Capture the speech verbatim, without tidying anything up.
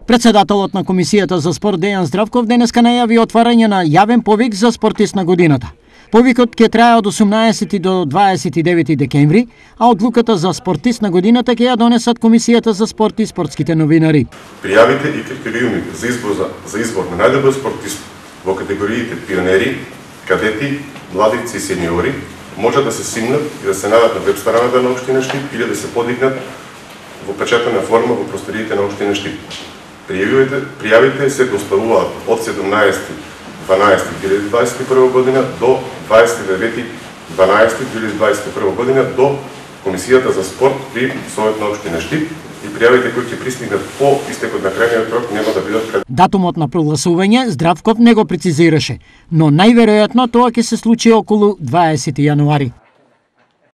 Председателот на Комисијата за спорт Дејан Здравков денеска најави отварање на јавен повик за спортист на годината. Повикот ќе трае од осумнаесети до дваесет и девети декември, а одлуката за спортист на годината ќе ја донесат Комисијата за спорт и спортските новинари. Пријавите и критериумите за избор за, за избор на најдобар спортист во категориите пионери, кадети, младици и сениори може да се симнат и да се најдат на веб страната на општина Штип или да се подигнат во печатена форма во просториите на општина Штип. Пријавите, пријавите се доставуваат од седумнаесети дванаесети две илјади дваесет и прва година до дваесет и девети дванаесети две илјади дваесет и прва година до Комисијата за спорт при Совет на општина Штип и пријавите кои ќе пристигнат по истекот на крајниот рок нема да бидат. Датумот на прогласување Здравков не го прецизираше, но најверојатно тоа ќе се случи околу дваесети јануари.